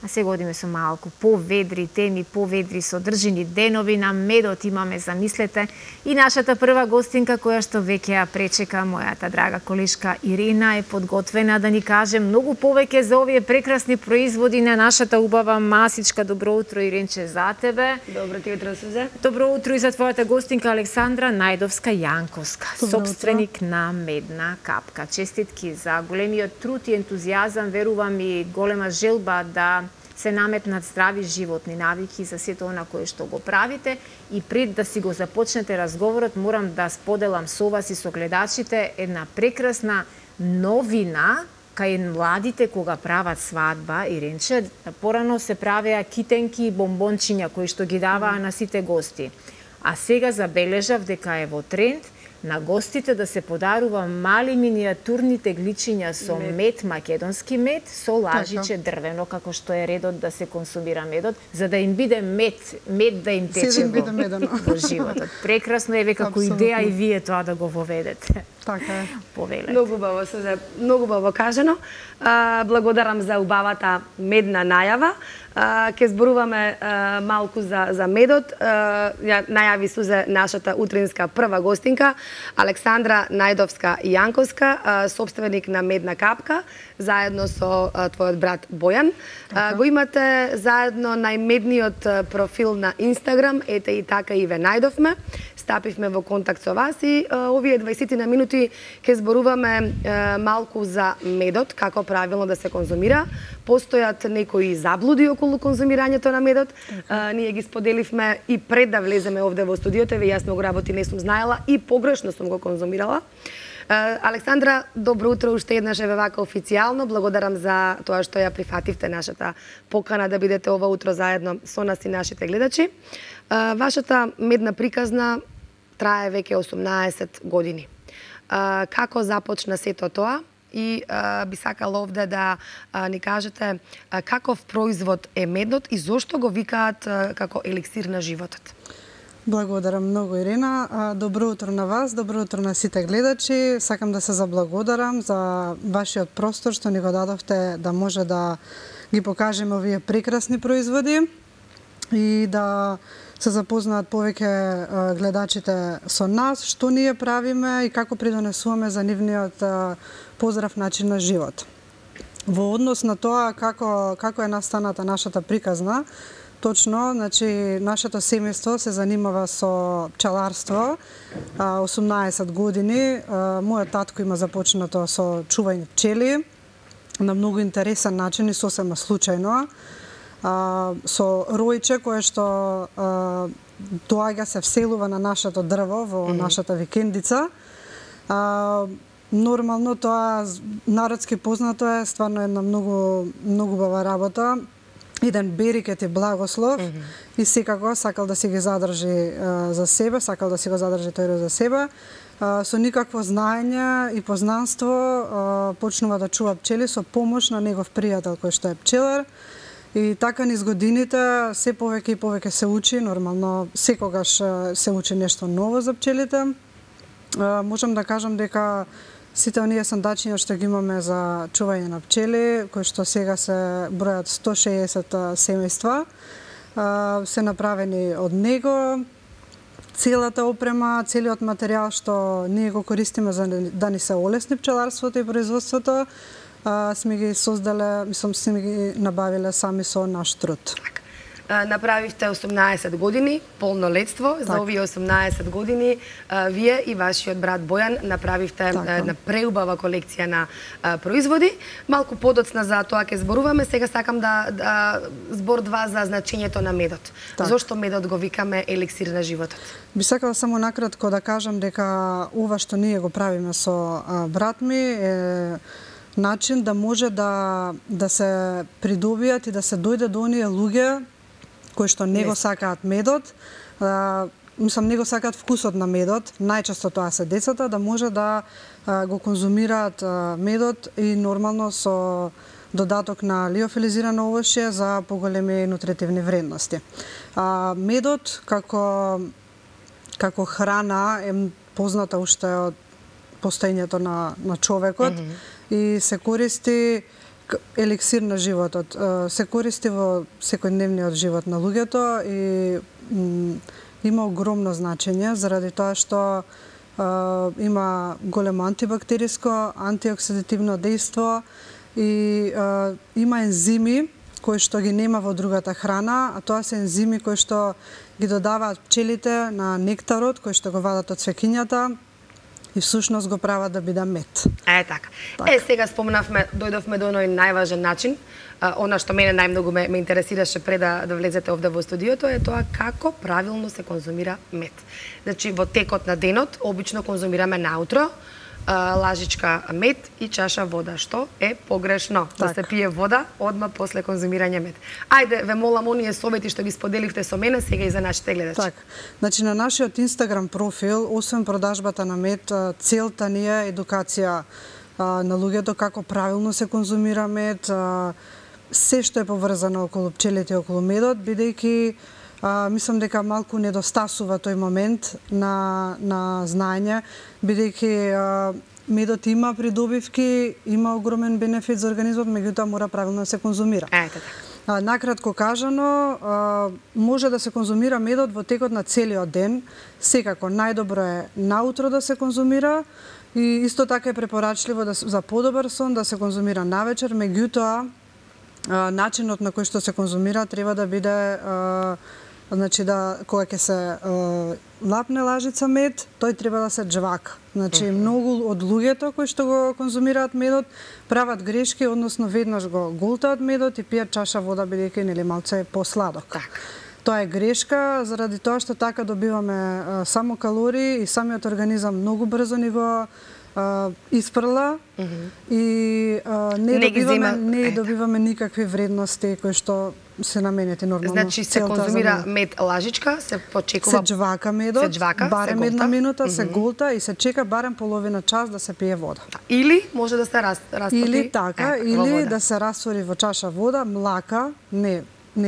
а сега одиме со малку поведри теми, поведри содржини денови на медот имаме, замислете, и нашата прва гостинка која што веќе ја пречека, мојата драга колешка Ирина е подготвена да ни каже многу повеќе за овие прекрасни производи на нашата убава масичка. Добро утро, Иринче, за тебе. Добро ти утро, Сузе. Добро утро и за твојата гостинка Александра Најдовска-Јанковска, собственик на Медна капка. Честитки за големиот труд и ентузијазам, верувам и голема желба да се наметнат здрави животни навики за сето она кое што го правите. И пред да си го започнете разговорот, морам да споделам со вас и со гледачите една прекрасна новина кај младите кога прават свадба. Иринче, порано се правеа китенки и бомбончиња кои што ги даваа на сите гости. А сега забележав дека е во тренд на гостите да се подарува мали миниатурни тегличиња со мед, македонски мед, со лажиче дрвено, како што е редот да се консумира медот, за да им биде мед да им тече во животот. Прекрасно е како идеја и вие тоа да го воведете. Така е. Повелете. Многу убаво, Сузе, многу убаво кажано. Благодарам за убавата медна најава. Ке зборуваме малку за медот. Ја најави, Сузе, нашата утринска прва гостинка, Александра Најдовска-Јанковска, собственик на Медна капка, заедно со твојот брат Бојан. Го имате заедно најмедниот профил на Инстаграм, ете и така и ве најдовме. Стапивме во контакт со вас и овие 20 на минути ке зборуваме малку за медот, како правилно да се конзумира. Постојат некои заблуди околу конзумирањето на медот. Ние ги споделивме и пред да влеземе овде во студиото, јас многу работи не сум знаела и погрешно сум го конзумирала. Александра, добро утро уште еднаш еве вака официјално. Благодарам за тоа што ја прифативте нашата покана да бидете ова утро заедно со нас и нашите гледачи. Вашата медна приказна трае веќе 18 години. Како започна сето тоа? И би сакала овде да ни кажете каков производ е медот и зошто го викаат како еликсир на животот? Благодарам многу, Ирина. Добро утро на вас, добро утро на сите гледачи. Сакам да се заблагодарам за вашиот простор што ни го дадовте да може да ги покажеме овие прекрасни производи и да се запознаат повеќе гледачите со нас, што ние правиме и како придонесуваме за нивниот поздрав начин на живот. Во однос на тоа како е настаната нашата приказна, точно, значи, нашето семејство се занимава со пчеларство 18 години. Мојот татко има започнато со чување пчели на многу интересен начин и сосема случајно. Со ројче кое што доаѓа се вселува на нашето дрво во нашата викендица. Нормално тоа народски познато е, стварно една многу убава работа. Еден берикет и благослов и секако сакал да си ги задржи за себе, сакал да си го задржи тој за себе. Со никакво знаење и познанство почнува да чува пчели со помош на негов пријател кој што е пчелар. И така низ годините се повеќе и повеќе се учи, нормално секогаш се учи нешто ново за пчелите. Можам да кажам дека сите оние сандачиња што ги имаме за чување на пчели, кои што сега се бројат 160 семејства, се направени од него. Целата опрема, целиот материјал што ние го користиме за да ни се олесни пчеларството и производството, сме ги создале, сме ги набавиле сами со наш труд. Направивте 18 години полнолетство. За овие 18 години вие и вашиот брат Бојан направивте една преубава колекција на производи. Малку подоцна за тоа ќе зборуваме. Сега сакам да збор два за значењето на медот. Зошто медот го викаме еликсир на животот? Би сакала само накратко да кажам дека ова што ние го правиме со брат ми е начин да може да се придобијат и да се дојде до оние луѓе кои што не го сакаат медот, не го сакаат вкусот на медот, најчесто тоа се децата, да може да го конзумираат медот и нормално со додаток на лиофилизирано овошје за поголеми нутритивни вредности. Медот како храна е позната уште од постоењето на човекот и се користи еликсир на животот. Се користи во секојдневниот живот на луѓето и има огромно значење заради тоа што има големо антибактериско, антиоксидативно дејство и има ензими кои што ги нема во другата храна, а тоа се ензими кои што ги додаваат пчелите на нектарот кој што го вадат од цвеќињата и всушност го прават да биде мед. Така. Сега спомнавме, дојдовме до оној најважен начин, она што мене најмногу ме интересираше пред да влезете овде во студиото е тоа како правилно се конзумира мед. Значи во текот на денот обично конзумираме наутро лажичка мед и чаша вода, што е погрешно. Да се пие вода одма после конзумирање мед. Ајде, ве молам оние совети што ги споделивте со мене сега и за нашите гледачи. Така. Значи на нашиот Инстаграм профил, освен продажбата на мед, целта ни е едукација на луѓето како правилно се конзумира мед, се што е поврзано околу пчелите и околу медот, бидејќи мислам дека малку недостасува тој момент на знаење, бидејќи медот има придобивки, има огромен бенефит за организмот, меѓутоа мора правилно да се конзумира. Накратко кажано, може да се конзумира медот во текот на целиот ден, секако најдобро е наутро да се конзумира и исто така е препорачливо за подобар сон да се конзумира навечер, меѓутоа начинот на кој што се конзумира треба да биде значи кога ќе се лапне лажица мед, тој треба да се джвака. Значи многу од луѓето кои што го конзумираат медот прават грешки, односно веднаш го голтаат медот и пијат чаша вода бидејќи нели малце е посладок. Тоа е грешка заради тоа што така добиваме само калории и самиот организам многу брзо ни го испрла и не добиваме никакви вредности кои што се наменети нормално. Значи се конзумира мед лажичка, се почекува, се джвака медот, барем една минута, се голта и се чека барем половина час да се пие вода. Или може да се растопи. Или така, или да се раствори во чаша вода, млака, не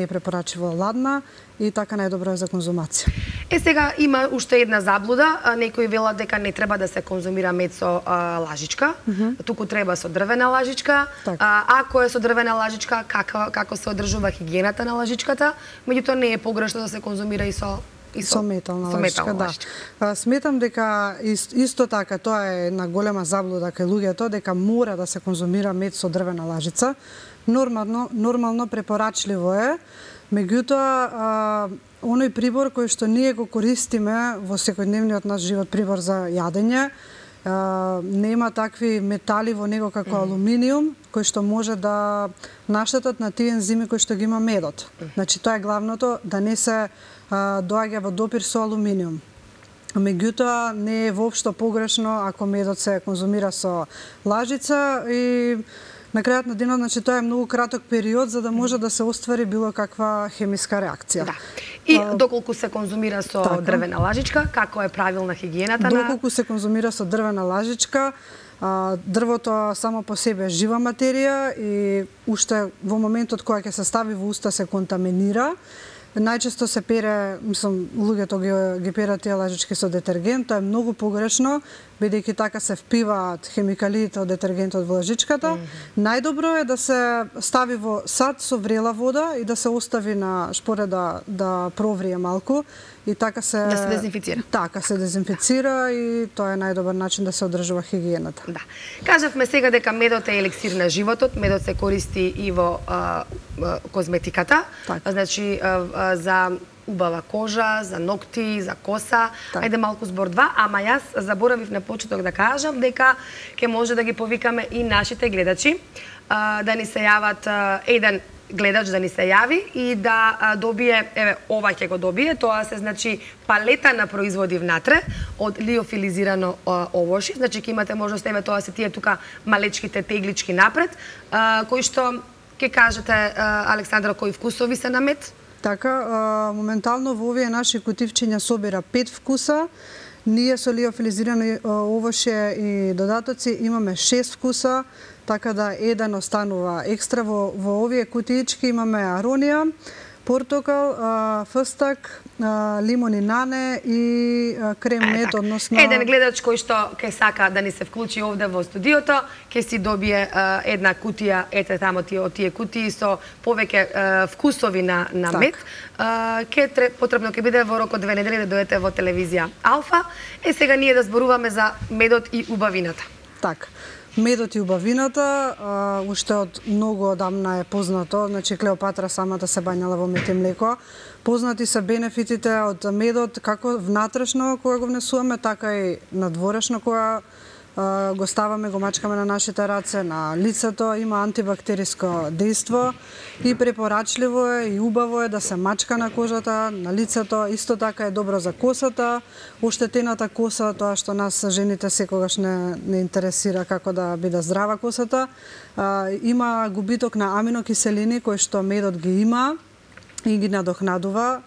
е препорачливо ладна и така најдобро е за конзумација. Сега има уште една заблуда, некои велат дека не треба да се конзумира мед со лажичка, туку треба со дрвена лажичка. Ако е со дрвена лажичка, како се одржува хигиената на лажичката, меѓутоа не е погрешно да се конзумира и со метална лажичка, да. Сметам дека исто така тоа е една голема заблуда кај луѓето дека мора да се конзумира мед со дрвена лажица. Нормално препорачливо е, меѓутоа оној прибор кој што ние го користиме во секојдневниот наш живот, прибор за јадење, нема такви метали во него како алуминиум, кој што може да наштетат на тие ензими кои што ги има медот. Значи тоа е главното, да не се доаѓа во допир со алуминиум. Меѓутоа не е воопшто погрешно ако медот се конзумира со лажица и на крајот на денот, значи тоа е многу краток период за да може да се оствари било каква хемиска реакција. И доколку се конзумира со дрвена лажичка, како е правилна хигиената на... Доколку се конзумира со дрвена лажичка, дрвото само по себе е жива материја и уште во моментот кога ќе се стави во уста се контаминира. Најчесто се пере, мислам, луѓето ги перат тие лажички со детергент, тоа е многу погрешно, бидејќи така се впиваат хемикалиите од детергентот во лажичката. Најдобро е да се стави во сад со врела вода и да се остави на шпоре да проврие малку и така се да се дезинфицира. Така се дезинфицира и тоа е најдобар начин да се одржува хигиената. Да. Кажавме сега дека медот е еликсир на животот, медот се користи и во козметиката. Значи за убава кожа, за ногти, за коса. Ајде малку збор два, ама јас заборавив на почеток да кажам дека ќе може да ги повикаме и нашите гледачи да ни се јават еден гледач да ни се јави и да добие, еве, ова ќе го добие, тоа се значи палета на производи внатре од лиофилизирано овошје, значи ќе имате можност, еве, тоа се тие тука малечките теглички напред, кои што ќе кажете, Александра, кои вкусови се на мед? Така, моментално во овие наши кутивчиња собира 5 вкуса. Ние со лиофилизирано овошје и додатоци имаме 6 вкуса, така да еден останува екстра. Во овие кутиички имаме аронија, портокал, фстак, лимон и нане и крем мед, односно... Еден гледач кој што ќе сака да ни се вклучи овде во студиото, ќе си добие една кутија, ете тамо од тие кутии со повеќе вкусови на мед. Потребно ќе биде во рок од 2 недели да дојдете во телевизија Алфа. Сега ние да зборуваме за медот и убавината. Така. Медот и убавината, уште од многу одамна е познато, значи Клеопатра самата се бањала во мед и млеко. Познати се бенефитите од медот како внатрешно кога го внесуваме, така и надворешно кога го ставаме, го мачкаме на нашите раце, на лицето, има антибактериско дејство и препорачливо е и убаво е да се мачка на кожата, на лицето, исто така е добро за косата, оштетената коса, тоа што нас жените секогаш не интересира како да биде здрава косата. Има губиток на аминокиселини кои што медот ги има и ги надокнадува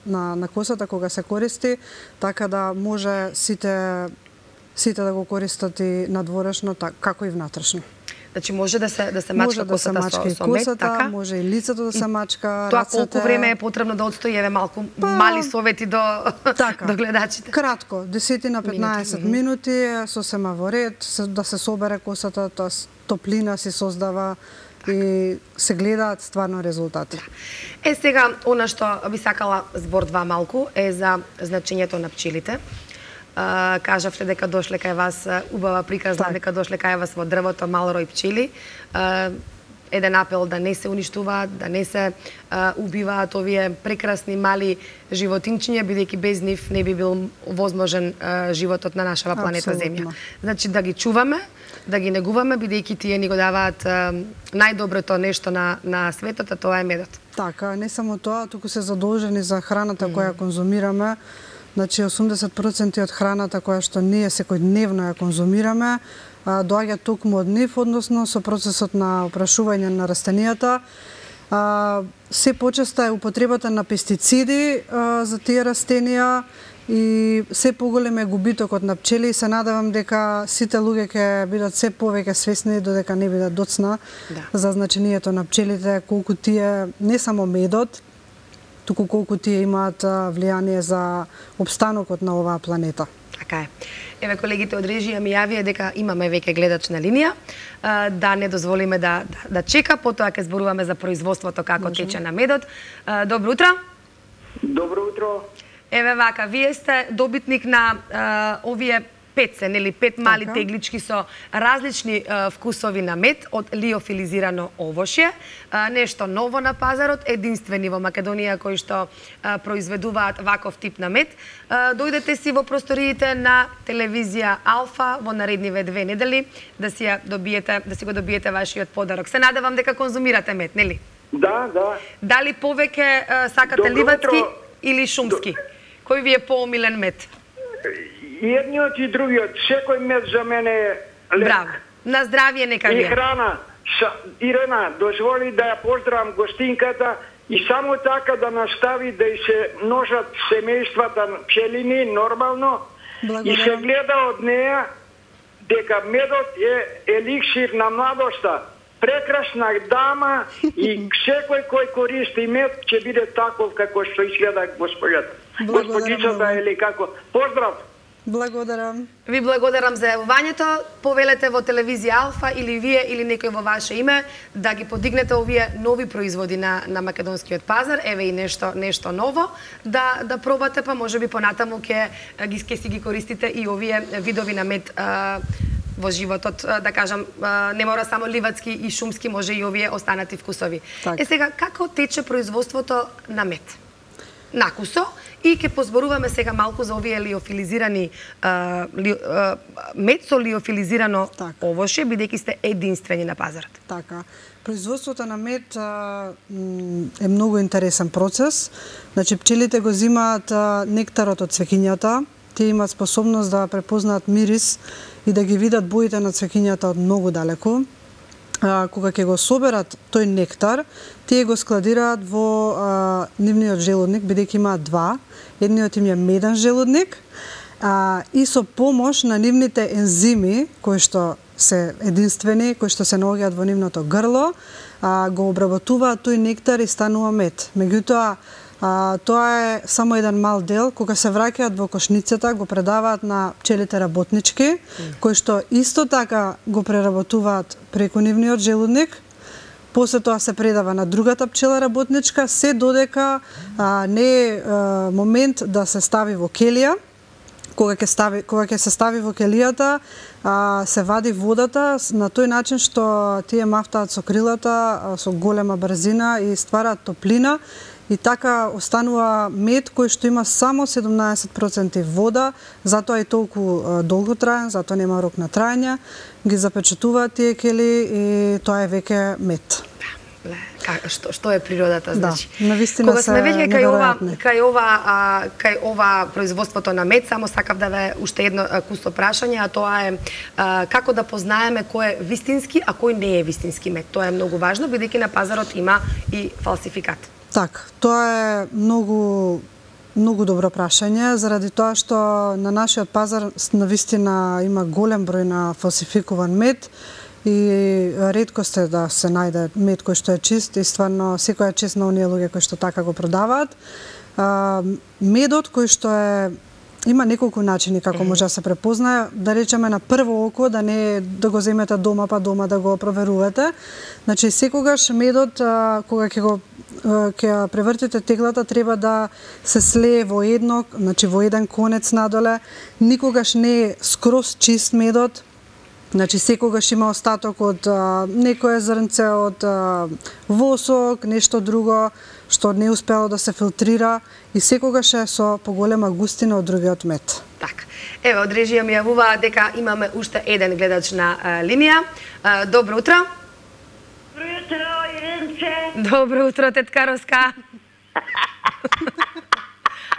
на косата кога се користи, така да може сите да го користат и надворешно, како и внатрешно. Значи може да се мачка косата со мед, така? Може и лицето да се мачка, тоа рацете. Колку време е потребно да отстои, еве малку мали совети до гледачите? Кратко, 10-15 минути, сосема во ред, да се собере косата, тоа топлина се создава и се гледаат стварно резултати. Сега, она што би сакала збор 2 малку е за значењето на пчелите. Кажавте дека дошле кај вас убава приказна, дека дошле кај вас во дрвото мал рој пчели. Еден апел да не се уништуваат, да не се убиваат овие прекрасни мали животинчиња, бидејќи без нив не би бил возможен животот на нашава планета Земја. Значи да ги чуваме, да ги негуваме, бидејќи тие ни го даваат најдоброто нешто на светот, а тоа е медот. Така, не само тоа, туку се задолжени за храната која конзумираме. Значи 80% од храната која што ние секојдневно ја конзумираме доаѓа токму од нив, односно со процесот на опрашување на растенијата. Се почеста е употребата на пестициди за тие растенија и се поголем е губитокот на пчели и се надевам дека сите луѓе ќе бидат се повеќе свесни додека не бидат доцна за значењето на пчелите, колку тие не само медот, туку колку тие имаат влијание за обстанокот на оваа планета. Така е. Еве колегите од режија ми јавија дека имаме веќе гледач на линија, да не дозволиме да чека, потоа ќе зборуваме за производството како тече на медот. Добро утро. Добро утро. Еве вака, вие сте добитник на овие 5 мали теглички со различни вкусови на мед од лиофилизирано овошје. Нешто ново на пазарот, единствени во Македонија кои што произведуваат ваков тип на мед. Дојдете си во просториите на телевизија Алфа во наредниве 2 недели да си го добиете вашиот подарок. Се надевам дека конзумирате мед, нели? Да. Дали повеќе сакате ливадски или шумски? Кој ви е поомилен мед? Едниот и другиот, секој мед за мене е лек. Браво. На здравје нека ви е. И храна. Ирена, дозволи да ја поздравам гостинката и само така да настави да и се множат семејствата пчелини нормално. И се гледа од неја дека медот е еликсир на младоста. Прекрасна дама и секој кој користи мед ќе биде таков како што изгледа госпоѓата. Господичата или како. Поздрав! Благодарам. Ви благодарам за јавувањето. Повелете во телевизија Алфа или вие или некој во ваше име да ги подигнете овие нови производи на македонскиот пазар. Еве и нешто ново да пробате, па можеби понатаму ќе си ги користите и овие видови на мед во животот, да кажам, не мора само ливадски и шумски, може и овие останати вкусови. Сега, како тече производството на мед? Накусо, и ќе позборуваме сега малку за овие лиофилизирани мед со лиофилизирано овошје, бидејќи сте единствени на пазарот. Така. Производството на мед е многу интересен процес. Значи, пчелите го зимаат нектарот од цвеќињата, тие имаат способност да препознаат мирис и да ги видат боите на цвеќињата од многу далеку. Кога ќе го соберат тој нектар, тие го складираат во нивниот желудник, бидејќи имаат 2. Едниот им е меден желудник и со помош на нивните ензими, кои што се единствени, кои што се наоѓаат во нивното грло, го обработуваат тој нектар и станува мед. Меѓутоа, тоа е само еден мал дел. Кога се враќаат во кошницата, го предаваат на пчелите работнички, кои што исто така го преработуваат преку нивниот желудник. После тоа се предава на другата пчела работничка, се додека не е момент да се стави во келија. Кога ќе се стави во келијата, се вади водата на тој начин што тие мафтаат со крилата со голема брзина и ствараат топлина. И така останува мед кој што има само 17% вода, затоа и толку долго траен, затоа нема рок на траење. Ги запечатуваат тие кели и тоа е веќе мед. Што е природата, значи. Да, навистина кога сме веќе кај ова производството на мед, само сакав да ве уште едно кусо прашање, а тоа е како да познаеме кој е вистински, а кој не е вистински мед. Тоа е многу важно, бидејќи на пазарот има и фалсификат. Так, тоа е многу добро прашање, заради тоа што на нашиот пазар навистина има голем број на фалсификуван мед и реткост е да се најде мед кој што е чист и стварно секој е чист на оние луѓе кои што така го продаваат. Медот кој што е има неколку начини како може да се препознае, да речеме на прво око, да не да го земете дома па дома да го проверувате. Значи секогаш медот кога ќе превртите теглата треба да се слее во едно, значи во еден конец надоле. Никогаш не е скроз чист медот. Значи секогаш има остаток од некое зрнце од восок, нешто друго што не успело да се филтрира и секогаш е со поголема густина од другиот мед. Така. Еве, од режија ми јавува дека имаме уште еден гледач на линија. Добро утро. Добро утро, Иринце. Добро утро, тетка Роска.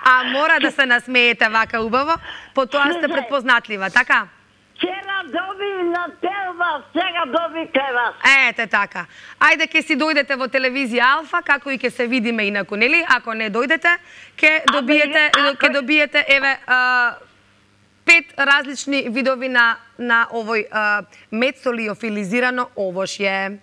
А мора да се насмеете вака убаво, потоа сте предпознатлива, така? Вчера доби на телва, сега доби кај вас. Ете така. Ајде ќе си дојдете во телевизија Алфа, како и ќе се видиме инаку, нели? Ако не дојдете, ќе добиете еве 5 различни видови на овој мед со лиофилизирано овошје.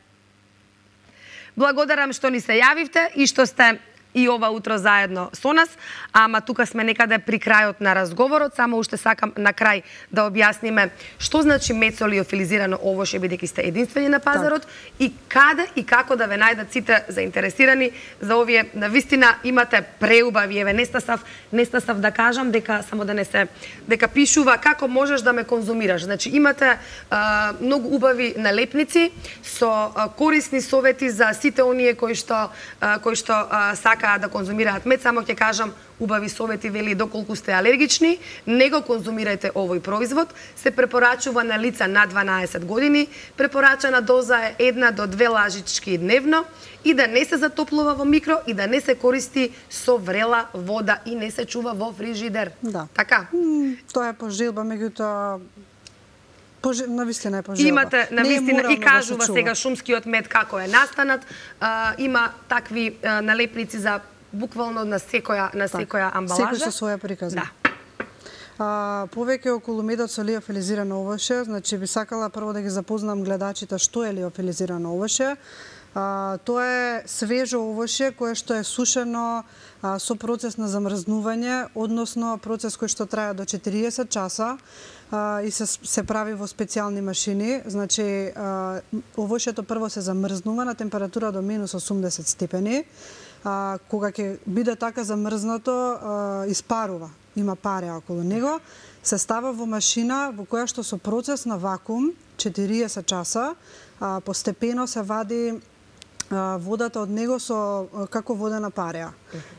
Благодарам што ни се јавивте и што сте и ова утро заедно со нас, ама тука сме некаде при крајот на разговорот, само уште сакам на крај да објасниме што значи мед со лиофилизирано овошје, бидејќи сте единствени на пазарот, и каде и како да ве најдат сите заинтересирани за овие. Навистина имате преубави, еве нестасав да кажам дека само да не се дека пишува како можеш да ме конзумираш. Значи имате многу убави налепници со корисни совети за сите оние кои што сакаат да конзумираат мед. Само ќе кажам убави совети, вели доколку сте алергични, не го конзумирајте овој производ. Се препорачува на лица над 12 години. Препорачана доза е 1 до 2 лажички дневно и да не се затоплува во микро и да не се користи со врела вода и не се чува во фрижидер. Да. Така? Тоа е пожелба, меѓутоа навистина е пожелба. Имате навистина и кажува сега шумскиот мед како е настанат. Има такви налепници за буквално на секоја амбалажа. Секој со своја приказна. Да. Повеќе околу медот со лиофилизирано овошје, значи би сакала прво да ги запознам гледачите што е лиофилизирано овошје. Тоа е свежо овошје кое што е сушено со процес на замрзнување, односно процес кој што трае до 40 часа и се прави во специјални машини. Значи, овошјето прво се замрзнува на температура до минус 80 степени. Кога ќе биде така замрзнато, испарува, има паре околу него, се става во машина во која што со процес на вакуум 40 часа постепено се вади водата од него со како водена пареа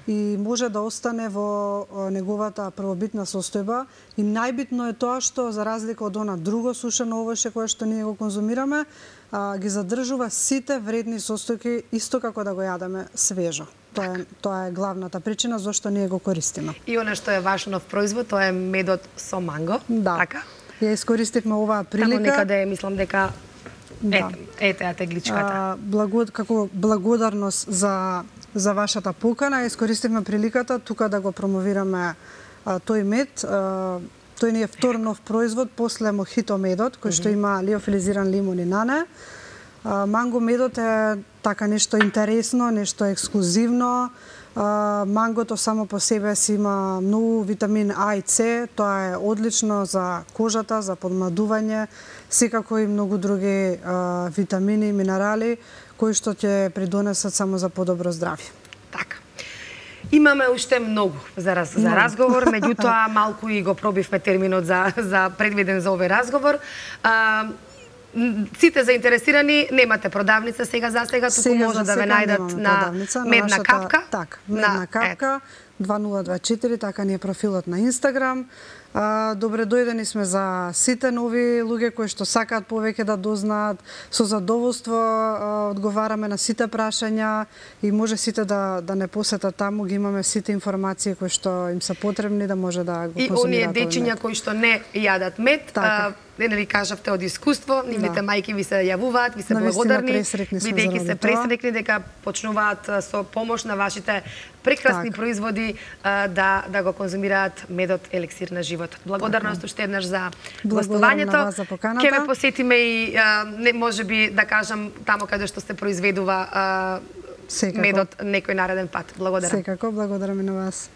и може да остане во неговата првобитна состојба. И најбитно е тоа што за разлика од она друго сушено овошје кое што ние го конзумираме, ги задржува сите вредни состојки исто како да го јадеме свежо. Тоа е главната причина зашто ние го користиме. И она што е ваш нов производ, тоа е медот со манго, да. Така? Ја искористивме оваа прилика. Тамо некаде мислам дека ете тегличката. Како благодарност за вашата покана, искористивме приликата тука да го промовираме тој мед. Тој ни е втор нов производ после мохито медот, кој што има лиофилизиран лимон и нане. Манго медот е така нешто интересно, нешто ексклузивно. Мангото само по себе си има многу витамин А и С, тоа е одлично за кожата, за подмладување, секако и многу други витамини и минерали кои што ќе придонесат само за подобро здравје. Така. Имаме уште многу за разговор, меѓутоа малку и го пробивме терминот за предвиден за овој разговор. Сите заинтересирани, немате продавница сега за сега, туку може да ве најдат на Медна капка. Така, Медна капка 2024, така ни е профилот на Инстаграм. Добре дојдени сме за сите нови луѓе кои што сакаат повеќе да дознаат. Со задоволство одговараме на сите прашања и може сите да не посетат таму, ги имаме сите информации кои што им се потребни да може да го консумираат. И оние дечиња кои што не јадат мед, не ви кажавте од искуство, нивните мајки ви се јавуваат, ви се благодарни, бидејќи се пресрекни дека почнуваат со помош на вашите прекрасни производи да го конзумираат медот елексир на животот. Благодарност уште еднаш за гостувањето. Ќе ве посетиме и можеби да кажам тамо каде што се произведува медот некој нареден пат. Благодарам. Секако, благодарам и на вас.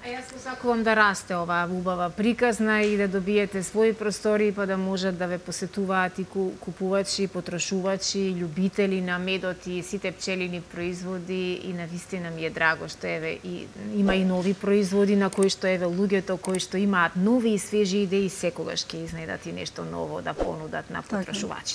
А јас посакувам да расте оваа убава приказна и да добиете своји простори, па да можат да ве посетуваат и купувачи, потрошувачи, љубители на медот и сите пчелини производи, и навистина ми е драго што има и нови производи на кои што луѓето кои што имаат нови и свежи идеи секогаш ќе изнедат и нешто ново да понудат на потрошувачите.